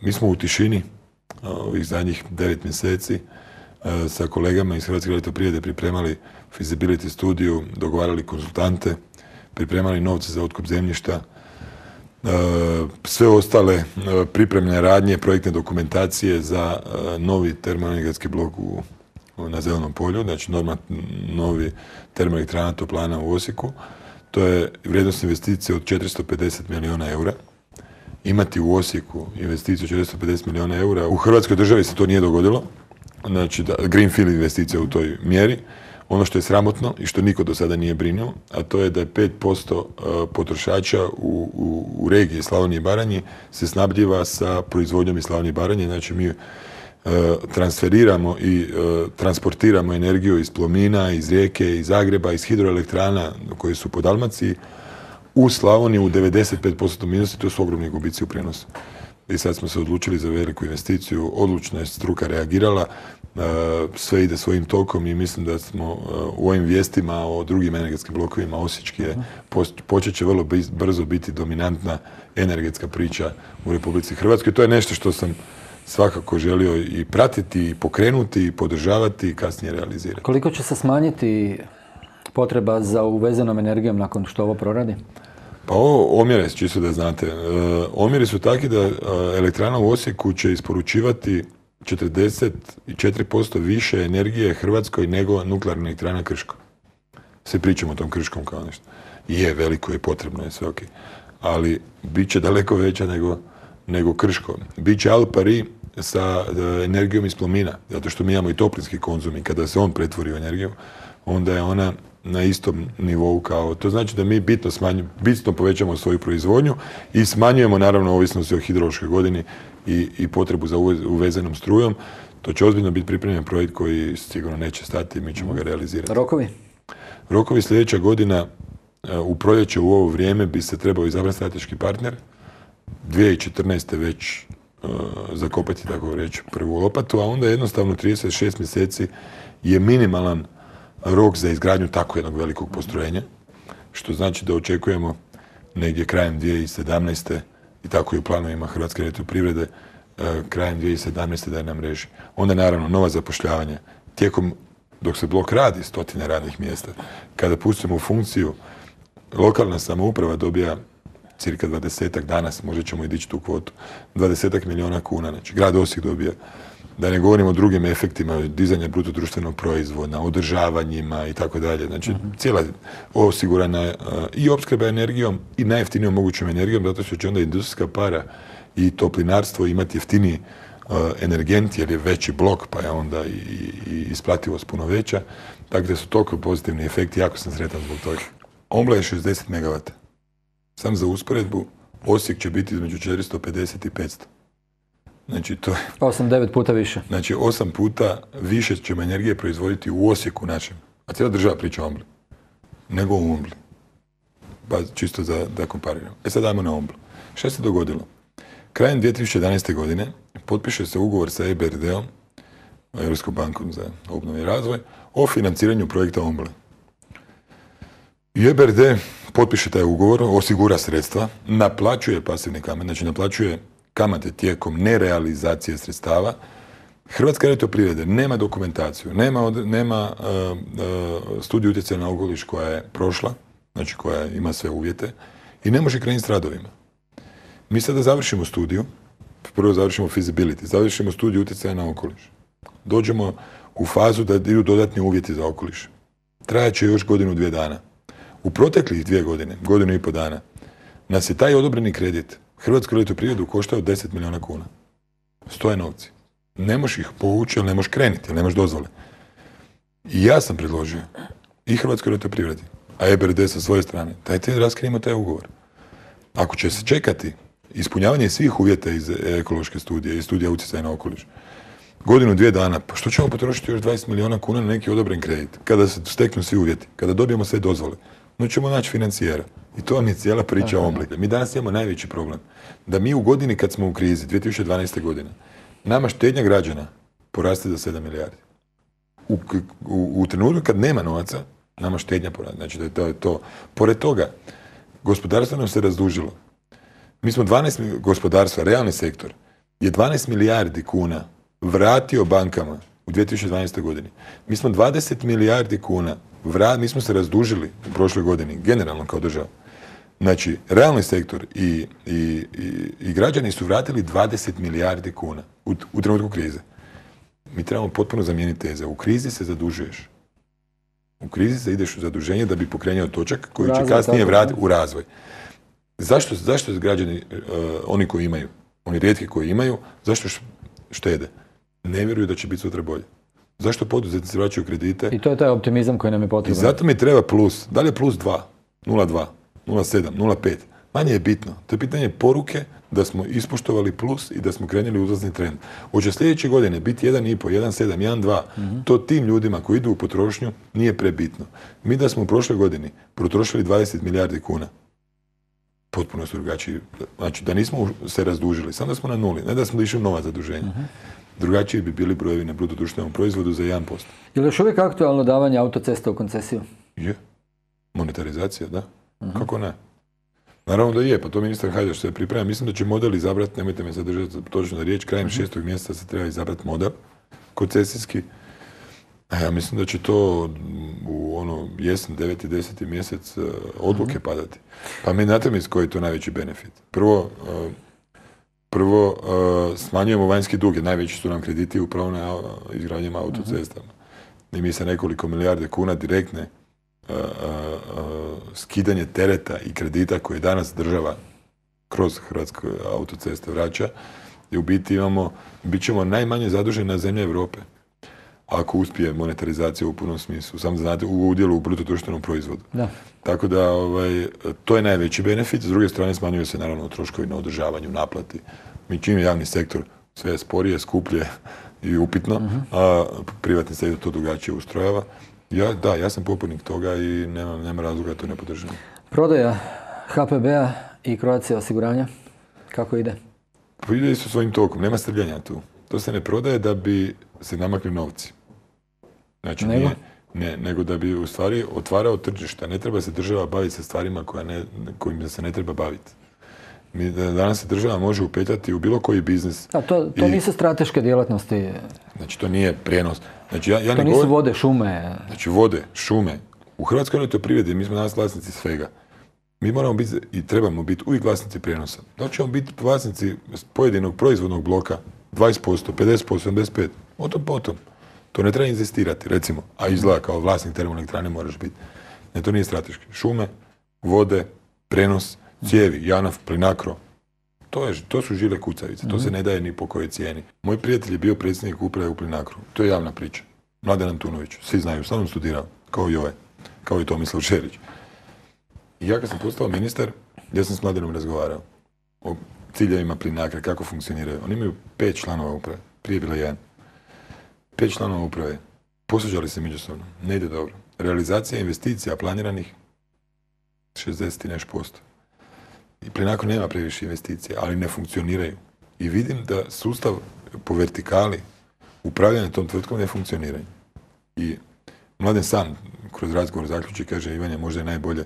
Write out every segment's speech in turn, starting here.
Mi smo u tišini ovih zadnjih 9 mjeseci sa kolegama iz Hrvatske elektroprivrede pripremali feasibility studiju, dogovarali konzultante, pripremali novce za otkup zemljišta, sve ostale pripremne radnje, projektne dokumentacije za novi termoenergetski blok na Zelenom polju, znači novi termoelektrana toplana u Osijeku. To je vrijednost investicije od 450 milijuna eura. Imati u Osijeku investiciju 450 milijuna eura, u Hrvatskoj državi se to nije dogodilo, znači greenfield investicija u toj mjeri. Ono što je sramotno i što niko do sada nije brinuo, a to je da je 5% potrošača u regiji Slavonije i Baranji se snabdijeva sa proizvodnjom iz Slavonije i Baranje. Znači mi transferiramo i transportiramo energiju iz Plomina, iz Rijeke, iz Zagreba, iz hidroelektrana koje su po Dalmaciji u Slavoniju u 95% minusa, to su ogromni gubici u prijenosu. I sad smo se odlučili za veliku investiciju, odlučno je struka reagirala, sve ide svojim tokom i mislim da smo u ovim vijestima o drugim energetskim blokovima osječki počet će vrlo brzo biti dominantna energetska priča u Republici Hrvatskoj. To je nešto što sam svakako želio i pratiti, i pokrenuti, i podržavati i kasnije realizirati. Koliko će se smanjiti potreba za uvezenom energijom nakon što ovo proradi? Pa omjere, čisto da znate, omjeri su takvi da elektrana u Osijeku će isporučivati 44% više energije Hrvatskoj nego nuklearna elektrana Krško. Svi pričamo o tom Krškom kao nešto. Je, veliko je, potrebno je, sve ok. Ali bit će daleko veća nego Krško. Biće al pari sa energijom iz Plomina, zato što mi imamo i toplinski konzum i kada se on pretvori u energiju, onda je ona na istom nivou kao, to znači da mi bitno povećamo svoju proizvodnju i smanjujemo naravno ovisnosti o hidrološkoj godini i potrebu za uvezenom strujom. To će ozbiljno biti pripremljen projekt koji sigurno neće stati i mi ćemo ga realizirati. Rokovi? Rokovi sljedeća godina, u proljeće u ovo vrijeme bi se trebao izabrati strateški partner. 2014. već zakopati, tako reći, prvu lopatu, a onda jednostavno 36 mjeseci je minimalan rok za izgradnju tako jednog velikog postrojenja, što znači da očekujemo negdje krajem 2017. i tako i u planovima Hrvatske elektroprivrede krajem 2017. da je na mreži. Onda naravno nova zapošljavanja. Dok se blok radi, 100 radnih mjesta. Kada pustimo u funkciju, lokalna samouprava dobija cirka 20-ak danas, možda ćemo i dići tu kvotu, 20-ak milijuna kuna. Znači, grad Osijek dobija, da ne govorimo o drugim efektima, dizanja bruto društvenog proizvoda, održavanjima i tako dalje. Znači, cijela osigurana i opskrba energijom i najjeftinijom mogućom energijom, zato što će onda industrijska para i toplinarstvo imati jeftiniji energent, jer je veći blok, pa je onda i isplativost puno veća. Tako da su toliko pozitivni efekti, jako sam sretan zbog toga. Ombla je 60 MW. Sam za usporedbu, Osijek će biti između 450 i 500. Znači, to je 8-9 puta više. Znači, 8 puta više ćemo energije proizvoditi u Osijeku našem. A cijela država priča o Ombli. Nego u Ombli. Pa čisto da kompariramo. Sad dajmo na Omblu. Šta se dogodilo? Krajem 2011. godine potpiše se ugovor sa EBRD-om, Europskom bankom za obnovu i razvoj, o financiranju projekta Omble. I EBRD potpiše taj ugovor, osigura sredstva, naplaćuje pasivni kamate, znači naplaćuje kamate tijekom nerealizacije sredstava. Hrvatska elektroprivreda nema dokumentaciju, nema studiju utjecaja na okoliš koja je prošla, znači koja ima sve uvjete i ne može krenuti s radovima. Mi sada završimo studiju, prvo završimo feasibility, završimo studiju utjecaja na okoliš. Dođemo u fazu da idu dodatni uvjeti za okoliš. Trajat će još 1-2 dana. U proteklih 2 godine, 1,5 dana, nas je taj odobreni kredit Hrvatsku elektroprivredu koštao 10 milijuna kuna. Stoje novci. Ne možeš ih povući, ali ne možeš krenuti, jer nemaš dozvole. I ja sam predložio i Hrvatskoj elektroprivredi, a EBRD sa svoje strane, dajte raskrijemo taj ugovor. Ako će se čekati ispunjavanje svih uvjeta iz ekološke studije i studija utjecaja na okoliš, 1-2 dana, pa što ćemo potrošiti još 20 milijuna kuna na neki odobren kredit? Kada se steknu svi uvjeti, kada dobijemo sve dozvole, no ćemo naći financijera. I to vam je cijela priča o Ombli. Mi danas imamo najveći problem. Da mi u godini kad smo u krizi, 2012. godine, nama štednja građana poraste za 7 milijardi. U trenutku kad nema novaca, nama štednja poraste. Znači da je to. Pored toga, gospodarstvo nam se razdužilo. Mi smo 12 gospodarstva, realni sektor, je 12 milijardi kuna vratio bankama u 2012. godini. Mi smo 20 milijardi kuna, mi smo se razdužili u prošloj godini, generalno kao država. Znači, realni sektor i građani su vratili 20 milijardi kuna u trenutku krize. Mi trebamo potpuno zamijeniti teze. U krizi se zadužuješ. U krizi se ideš u zaduženje da bi pokrenuo točak koji će kasnije vratiti u razvoj. Zašto građani, oni koji imaju, oni rijetki koji imaju, zašto štede? Ne vjeruju da će biti sutra bolje. Zašto poduzetnici vraćaju kredite? I to je taj optimizam koji nam je potreban. I zato mi treba plus. Da li je plus 2, 0,2, 0,7, 0,5? Manje je bitno. To je pitanje poruke da smo ispoštovali plus i da smo krenuli uzlazni trend. Hoće sljedeće godine biti 1,5, 1,7, 1,2. To tim ljudima koji idu u potrošnju nije prebitno. Mi da smo u prošloj godini potrošili 20 milijardi kuna, potpuno su drugačiji. Znači da nismo se razdužili, samo da smo na nuli, ne da smo išli u nova zaduženja. Drugačiji bi bili brojevi na bruto društvenom proizvodu za 1%. Je li još uvijek aktualno davanje autocesta u koncesiju? Je. Monetarizacija, da. Kako ne? Naravno da je, pa to ministar Hajdaš se priprema. Mislim da će model izabrati, nemojte me zadržati točno na riječ, krajem 6. mjeseca se treba izabrati model koncesijski. A ja mislim da će to u jesen, 9. i 10. mjesec odluke padati. Pa mi znate mi koji je to najveći benefit. Prvo, smanjujemo vanjski dug, jer najveći su nam krediti upravo na izgradnjama autocestama. I mi sa nekoliko milijarde kuna direktne skidanje tereta i kredita koje danas država kroz Hrvatske autoceste vraća, i u biti bit ćemo najmanje zadužena zemlja Europe. Ako uspije monetarizacija u punom smislu, samo znate, u udjelu u bruto društvenom proizvodu. Da. Tako da to je najveći benefit. S druge strane smanjuje se naravno troškovi na održavanju, naplati. Mi čim je javni sektor sve sporije, skuplje i upitno, a privatni sektor to drugačije ustrojava. Ja sam pobornik toga i nema razloga da to ne podržim. Prodaja HPB-a i Croatia osiguranja, kako ide? Pa ide isto svojim tokom, nema strljanja tu. To se ne prodaje da bi se namakli novci. Znači, nego da bi u stvari otvarao tržište. Ne treba se država baviti sa stvarima kojim se ne treba baviti. Danas se država može upetljati u bilo koji biznis. To nisu strateške djelatnosti. Znači, to nije prijenos. Znači, to nisu vode, šume. Znači, vode, šume. U Hrvatskoj elektroprivredi mi smo danas vlasnici svega. Mi moramo biti i trebamo biti uvijek vlasnici prijenosa. Da ćemo biti vlasnici pojedinog proizvodnog bloka 20%, 50%, 75%, potom. To ne treba inzistirati, recimo, a izgleda kao vlasnik termoelektrane moraš biti. Ne, to nije strateški. Šume, vode, prenos, cijevi, JANAF, Plinacro. To su žile kucavice, to se ne daje ni po kojoj cijeni. Moj prijatelj je bio predsjednik uprave u Plinacru. To je javna priča. Mladen Antunović, svi znaju, sam studirao, kao i ovaj, kao i Tomislav Šerić. I ja kad sam postao ministar, ja sam s Mladenom razgovarao o ciljevima Plinacra, kako funkcioniraju. Oni imaju 5 članova uprave, prije je bilo 1. 5 članova uprave, posvađali se međusobno, ne ide dobro. Realizacija investicija planiranih 60 i nešto posto. I Plinacro nema previše investicija, ali ne funkcioniraju. I vidim da sustav po vertikali upravljanja tom tvrtkom ne funkcioniraju. I Mladen sam kroz razgovor zaključi, kaže, Ivanje, možda je najbolje,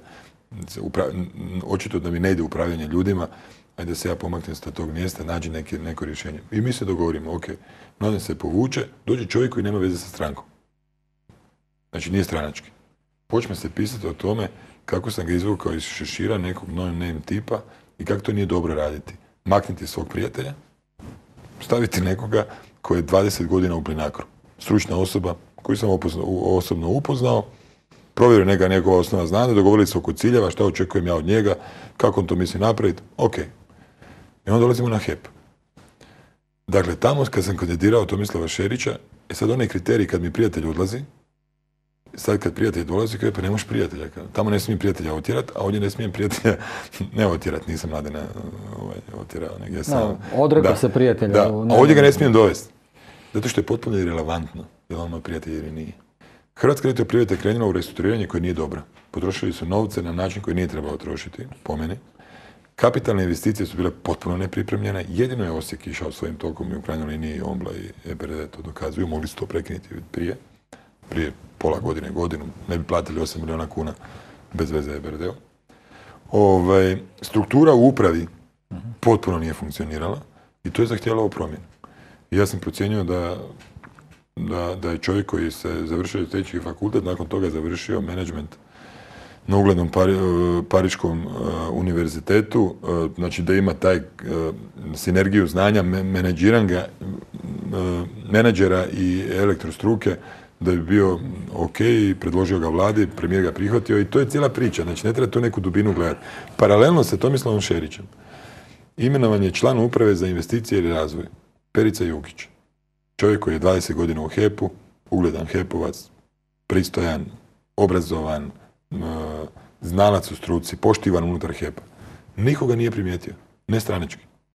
očito da mi ne ide upravljanje ljudima, ajde da se ja pomaknem sa tog mjesta, nađi neko rješenje. I mi se dogovorimo, ok, Mladen se povuče, dođe čovjek koji nema veze sa strankom. Znači nije stranački. Počne se pisati o tome kako sam ga izvukao iz šešira nekog no-name tipa i kako to nije dobro raditi. Makniti svog prijatelja, staviti nekoga koji je 20 godina u Plinacru. Stručna osoba koju sam osobno upoznao, provjerio njegova osnova znanja, dogovorili se oko ciljeva, šta očekujem ja od njega, kako on to misli napraviti, ok. I onda dolazimo na HEP. Dakle, tamo kad sam kandidirao Tomislava Šerića, sad onaj kriterij kad mi prijatelj odlazi, sad kad prijatelj dolazi, kaže, pa ne možeš prijatelja. Tamo ne smijem prijatelja otjerat, a ovdje ne smijem prijatelja ne otjerat, nisam Mladena otjerao, negdje sam. Odrekao se prijatelja. Da, a ovdje ga ne smijem dovesti. Zato što je potpuno irelevantno je li on ima prijatelj ili nije. Hrvatska elektroprivreda je krenula u restrukturiranje koje nije dobro. Potrošili su novce na način koji nije trebalo trošiti, po meni. Kapitalne investicije su bile potpuno nepripremljene. Jedino je Osijek išao svojim tokom i u krajnjoj liniji Ombla i EBRD to dokazuju. Mogli su to prekinuti prije pola godine, godinu. Ne bi platili 8 milijuna kuna bez veze EBRD-u. Struktura u upravi potpuno nije funkcionirala I to je zahtijevalo promjenu. I ja sam procijenio da je čovjek koji se završio tehnički fakultet, nakon toga završio menadžment na uglednom Pariškom univerzitetu, znači da ima taj sinergiju znanja menadžera i elektrostruke, da bi bio ok, predložio ga vladi, premijer ga prihvatio i to je cijela priča, znači ne treba tu neku dubinu gledati. Paralelno sa Tomislavom Šerićem imenovan je član uprave za investicije i razvoj, Perica Jukić. Čovjek koji je 20 godina u HEP-u, ugledan HEP-ovac, pristojan, obrazovan, znalac u struci, poštivan unutar HEP-a. Nikoga nije primijetio, ne stranački.